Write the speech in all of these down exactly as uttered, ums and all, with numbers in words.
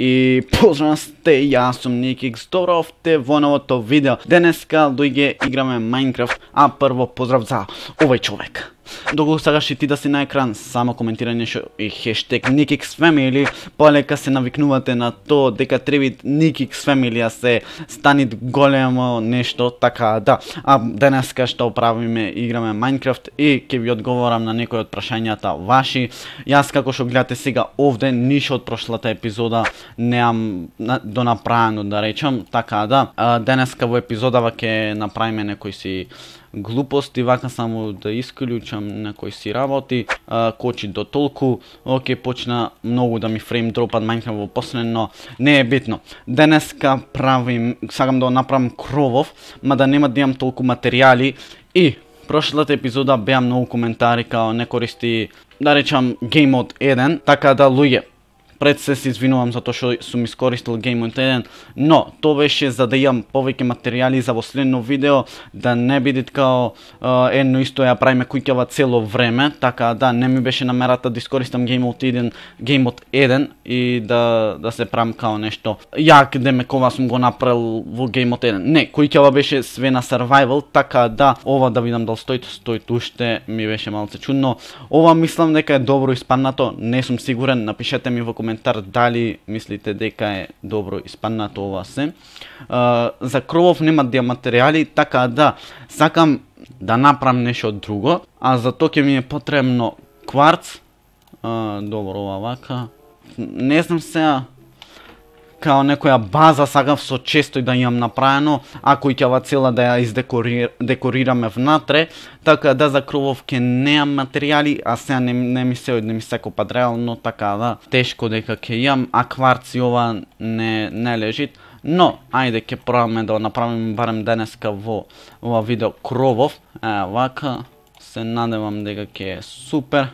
И поздрав сте, јас сум Никикс, добро овте во новото видео. Денеска дојде играме Minecraft, а прво поздрав за овој човек. Доколку сакаш и ти да си на екран, само коментирај нешто и хештег NikixFamily, полека се навикнувате на то дека треби NikixFamily се стани големо нешто, така да. А денеска што правиме, играме Minecraft и ќе ви одговорам на некои од прашањата ваши. Јас како што гледате сега овде, ништо од прошлата епизода неам донаправено да речам, така да. А, денеска во епизодава ќе направиме некои си глупости, вака само да исклучам некои си работи, а, кочи до толку, оке, почна многу да ми фрейм дропат Minecraft во последно, но не е битно. Денеска правим, сакам да направам кровов, мада нема да имам толку материјали и прошлата епизода беа многу коментари као не користи, да речам, Game Mode еден, така да луѓе, пред се се извинувам за тоа што сум искористил Game Mode еден, но тоа беше за да имам повеќе материјали за во следно видео, да не биде као uh, едно исто ја правиме куќава цело време, така да не ми беше намерата да искористам Game Mode еден, Game Mode еден и да да се правам као нешто. Јак демек ова сум го направил во Game Mode еден. Не, куќава беше све на survival, така да ова да видам дали стои, стои уште ми беше малце чудно. Ова мислам дека е добро испаднато, не сум сигурен, напишете ми во коментар дали мислите дека е добро испаднато ова се. Uh, за кровов нема да материјали, така да сакам да направам нешто друго, а за тоа ќе ми е потребно кварц. Uh, добро ова вака. Не знам сега као некоја база сакам со често да имам направено, ако и ќе цела да ја издекорираме внатре, така да за кровов ќе неам материјали, а сега не, не ми се не ми се копат реално, така да тешко дека ќе имам, а кварци ова не не лежит, но ајде ќе пробаме да направиме барем денеска во ова видео кровов. Е, вака се надевам дека ќе е супер.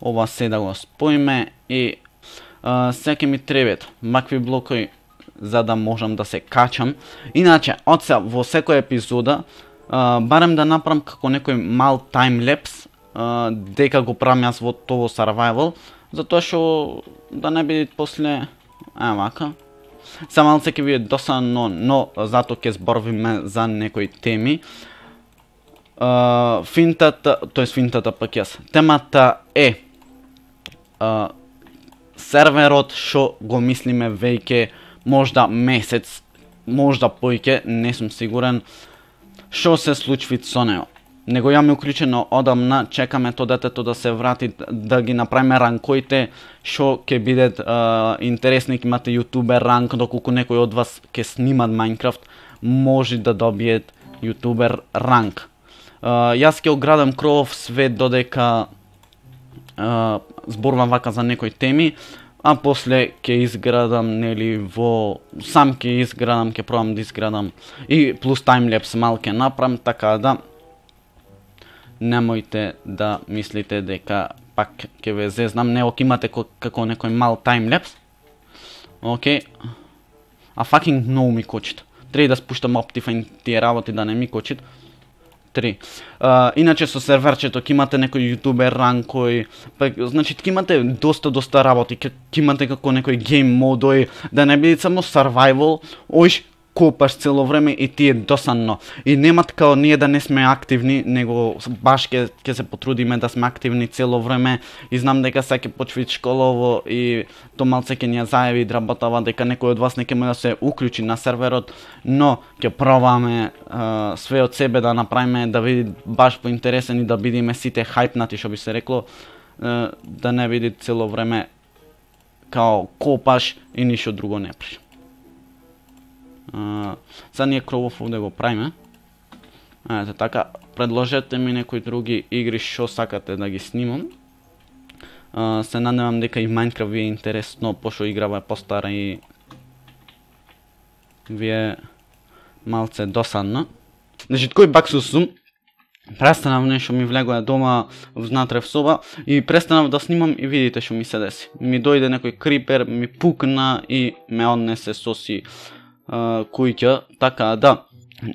Ова се да го споиме и Uh, сега ми требат макви блокови за да можам да се качам. Иначе, од сега во секоја епизода uh, барем да направам како некој мал таймлепс uh, дека го правам јас во тоа survival, затоа што да не биде после е вака. Са малце ќе биде досадно, но зато ќе зборвиме за некои теми. Uh, финтата, тоест финтата пак јас. Темата е uh, серверот што го мислиме веќе можда месец, можда поиќе, не сум сигурен што се случи со него. Него јаме уклучено одамна, чекаме тоа детето да се врати, да ги направиме ранкоите што ќе бидат uh, интересни, ќе имате јутубер ранк, доколку некој од вас ќе снимат Minecraft, може да добиет јутубер ранк. Uh, јас ќе оградам кровов све додека Uh, зборувам вака за некои теми, а после ќе изградам нели во сам ќе изградам, ќе пробам да изградам и плюс таймлепс мал ќе направам, така да немојте да мислите дека пак ќе ве зезнам, не ок имате како некој мал таймлепс. Океј. А fucking многу ми кочит. Треба да спуштам Optifine тие работи да не ми кочит. Три. Uh, иначе со серверчето ќе имате некој јутубер ранкој, па значи ќе имате доста доста работи, ќе имате како некој гейм модој, да не биде само survival, оиш копаш цело време и ти е досадно. И нема као ние да не сме активни, него баш ќе ќе се потрудиме да сме активни цело време. И знам дека сега ќе почви школово и то малце ќе ни ја зајави работава дека некој од вас не ќе може да се уклучи на серверот, но ќе пробаме uh, све од себе да направиме да биде баш поинтересен и да бидиме сите хајпнати, што би се рекло, uh, да не биде цело време као копаш и ништо друго не при. Uh, Са ние кровов овде го правиме. Ете така, предложете ми некои други игри што сакате да ги снимам. Uh, се надевам дека и Minecraft ви е интересно, пошто играва е постара и ви е малце досадна. Значи, кој баксус сум, престанав нешто ми влегоа дома внатре в соба и престанав да снимам и видите што ми се деси. Ми дојде некој крипер, ми пукна и ме однесе соси Uh, куќа, така да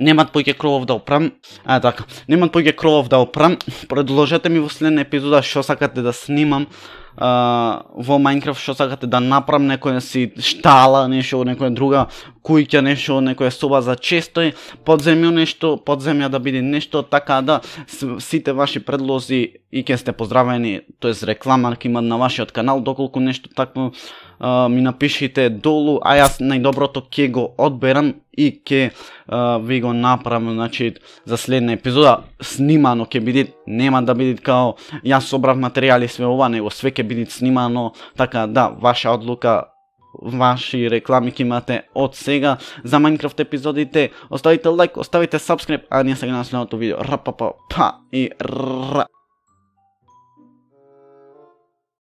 немат поќе кровов да опрам. А така, немат поќе кровов да опрам. Предложете ми во следна епизода што сакате да снимам. а, во Minecraft што сакате да направам некоја си штала, нешто, некоја друга куќа, нешто, некоја соба за честој, подземјо нешто, подземја да биде нешто, така да сите ваши предлози и ќе сте поздравени, тоест реклама ќе има на вашиот канал, доколку нешто такво Uh, ми напишите долу, а јас најдоброто ќе го одберам и ќе uh, ви го направам, значи, за следна епизода снимано ќе биде, нема да биде као јас собрав материјали све ова, него све ќе биде снимано, така да, ваша одлука, ваши реклами ќе имате од сега за Minecraft епизодите. Оставите лайк, оставите subscribe, а ние сега на следното видео. Рапапа, па и ра.